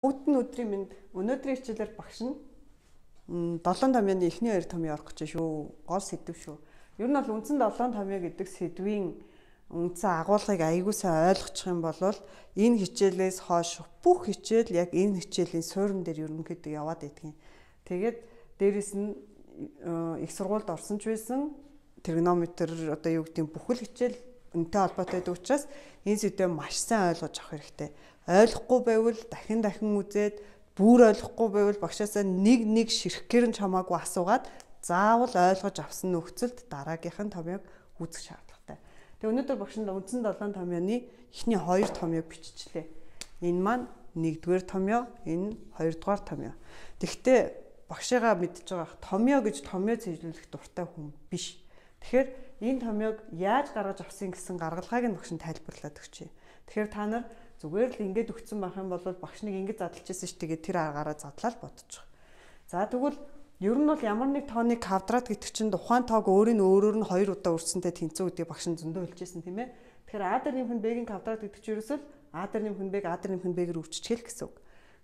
Бүгд нь өдрийн мэнд өнөөдрийн хичээлээр багш нь 7 томьёоны эхний 2 томьёо орох гэж шүү. Гол сэдв шүү. Ер нь бол үндсэн 7 томьёо гэдэг сэдвийн үндсэн агуулгыг аягүй сайн ойлгочих юм бол энэ хичээлээс хойш бүх хичээл яг энэ хичээлийн суурин дээр ерөнхийдөө яваад идэгин. Тэгээд дээрэс нь их сургуульд орсон ч байсан тригонометр одоо юу гэдэг бүхэл хичээл үнэтэй холбоотой байдаг учраас энэ сэдвээ маш сайн ойлгож авах хэрэгтэй. Ойлгохгүй байвал дахин үзээд бүр ойлгохгүй байвал багшаасаа нэг ширхгээр нь чамаагүй асуугаад заавал ойлгож авсан нөхцөлд дараагийнх нь томьёог үүсгэх шаардлагатай. Тэгээ өнөөдөр багш нь үндсэн 7 томьёоны эхний 2 томьёог биччихлээ. Энэ маань 1-р томьёо, энэ 2-р томьёо. Тэгэхдээ багшигаа мэдж байгаа томьёо гэж томьёо цэжлүүлэх дуртай хүн биш. Тэгэхээр энэ томьёог яаж гаргаж авсан гэсэн гаргалгааг нь багш нь тайлбарлаад өгчээ. Тэгэхээр та нар зүгээр л ингэж өгсөн байх юм бол багш нэг ингэж задлажсэн ш тэгээд тэр аргаараа задлаад бодчих. За тэгвэл ер нь бол ямар нэг тооны квадрат гэдэг чинь ухаан тоог өөрөөр нь 2 удаа үрсэнтэй тэнцүү гэдгийг багш нь зөндөө хэлжсэн тийм ээ. Тэгэхээр а дээр нэмэх нь b-ийн квадрат гэдэг чинь ерөөсөө а дээр нэмэх нь b-г а дээр нэмэх нь b-гээр үржчихэл гэсэн үг.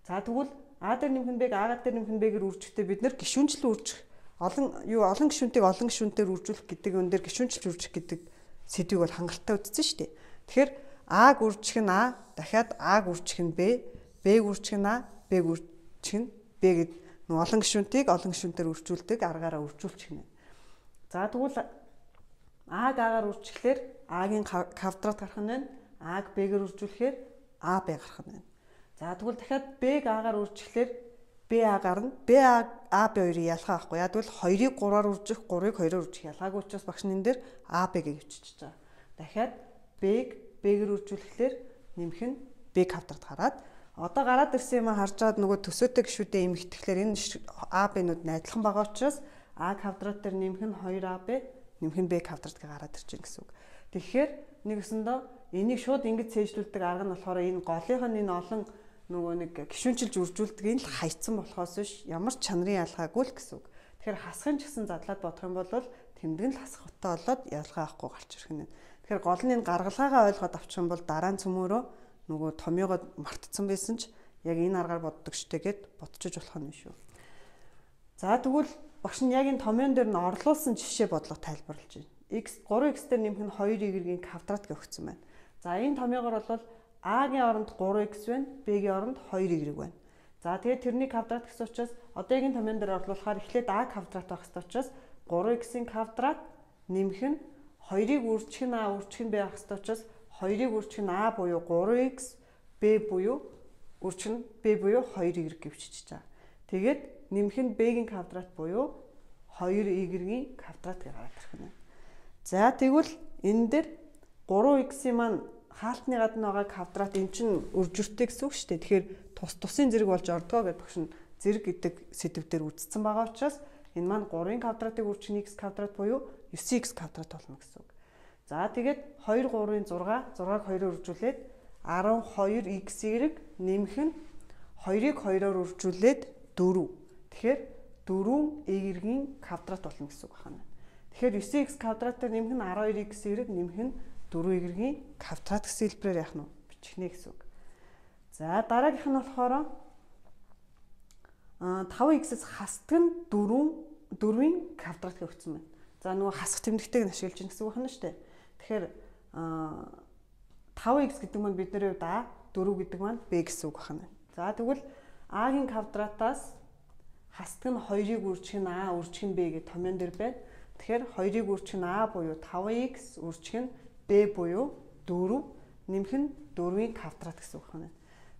За тэгвэл а дээр нэмэх нь b-г а дээр нэмэх нь b-гээр үржихдээ бид нэр гишүүнчлэн үржих олон гишүүнтийг олон гишүүнээр үржүүлэх гэдэг өн дээр гишүүнчлж үржих гэдэг сэдвийг бол хангалттай үзсэн шүү дээ. Тэгэхээр А-г үржих нь А, дахиад А-г үржих нь Б, Б-г үржих нь А, Б-г үржих нь Б гэд олон гишүүнтийг олон гишүүнээр үржүүлдэг аргаараа үржүүлчих нь. За тэгвэл А-г А-гаар үржихлээр А-гийн квадрат гарах нь байна. А-г Б-гээр үржүүлэхээр А, Б гарах нь байна. За тэгвэл дахиад Б-г А-гаар үржихлээр Б А гарна. Б А Б хоёрыг ялгаа авахгүй. Яг бол 2-ыг 3-аар үржих, 3-ыг 2-оор үржих ялгаагүй учраас багш нь энэ дээр А Б-г өвччихөж байгаа. Дахиад Б-г Б-гээр үржүүлэхлээр нэмэх нь Б квадрат гараад одоо гараад ирсэн юм харж байгаад нөгөө төсөөтэй гишүүдэд эмэгтэхлээр энэ А Б-нууд найдлах байгаа учраас А квадрат дээр нэмэх нь 2АБ, нэмэх нь Б квадрат гэ гараад ирж байгаа гэсэн үг. Тэгэхээр нэг өсөндөө энийг шууд ингэж цээжлүүлдэг арга нь болохоор энэ голынх нь энэ олон нөгөө нэг гишүүнчилж үржүүлдэг нь л хайцсан болохоос биш ямар ч чанарын ялгаагүй л гэсэн үг. Тэгэхээр хасахын ч гэсэн задлаад бодох юм бол тэмдэг нь л хасахтай болоод ялгаа авахгүй гарч ирэх нь. Тэгэхээр гол нь энэ гаргалгаагаа ойлгоод авчих юм бол дараа нь цөмөөрөө нөгөө томьёогоо мартцсан байсан ч яг энэ аргаар боддог штэ гэд бодчих болох нь шүү. За тэгвэл багш нь яг энэ томьёон дээр нь орлуулсан жишээ бодлого тайлбарлаж байна. X 3x дээр нэмэх нь 2y-ийн квадрат өгсөн байна. За энэ томьёогоор бол A-гийн оронд 3x байна, B-гийн оронд 2y байна. За тэгээд тэрний квадрат гэсэн учраас одоо яг энэ томьёон дээр орлуулахаар эхлээд A квадрат байх хэрэгтэй учраас 3x-ийн квадрат нэмэх нь 2-ыг үржих нь А үржих нь Б байх хэрэгтэй учраас 2-ыг үржих нь А буюу 3x, Б буюу үржих нь Б буюу 2y гэвчиж байгаа. Тэгээд нэмэх нь Б-гийн квадрат буюу 2y-ийн квадрат гараад ирэх нь. За тэгвэл энэ дээр 3x-ийн маань хаалтны гадна байгаа квадрат эн чинь үржиртэй гэсэн үг шүү дээ. Тэгэхээр тусын зэрэг болж ордгоо гэдэг багш нь зэрэг гэдэг сэдвээр үзсэн байгаа учраас энэ маань 3-ын квадратыг үржих нь x квадрат буюу 9x квадрат болно гэсэн үг. За тэгээд 2 3-ын 6, 6-г 2-оор үржүүлээд 12xy нэмэх нь 2-ыг 2-оор үржүүлээд 4. Тэгэхээр 4y-ийн квадрат болно гэсэн үг байна. Тэгэхээр 9x квадратаар нэмэх нь 12xy нэмэх нь 4y-ийн квадрат гэсэн хэлбэрээр яах нь бичих нэ гэсэн үг. За дараагийнх нь болохоор 5x-с хасдаг нь 4-ийн квадрат өгсөн байна. За нөгөө хасах тэмдэгтэйг нь ашиглаж гин гэсэн үг байна шүү дээ. Тэгэхээр 5x гэдэг маань бидний хувьд А, 4 гэдэг маань Б гэсэн үг байна. За тэгвэл А-гийн квадратаас хасдаг нь 2-ыг үржих нь А, үржих нь Б гэдэг томьёон дээр байна. Тэгэхээр 2-ыг үржих нь А буюу 5x, үржих нь Б буюу 4, нэмэх нь 4-ийн квадрат гэсэн үг байна.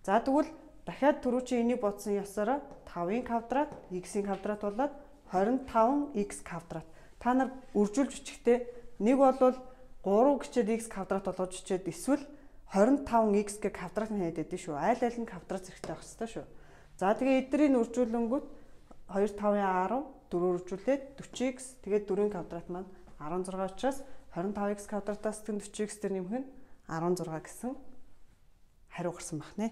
За тэгвэл дахиад түрүү чи энийг бодсон ясаараа 5-ийн квадрат, x-ийн квадрат болоод 25x квадрат. Та нар үржүүлж бичихтэй нэг бол 3 гिचээд x квадрат болгож бичээд эсвэл 25x гэ квадрат нь хийгээд байдсан шүү. Айл айл нь квадрат зэрэгтэй байх хэрэгтэй шүү. За тэгээ эднэрийн үржүүлэнгүүт 2 5-ын 10, 4 үржүүлээд 40x тэгээд 4-ийн квадрат маань 16 учраас 25x квадратаас 40x дээр нэмэх нь 16 гэсэн хариу гарсан байна.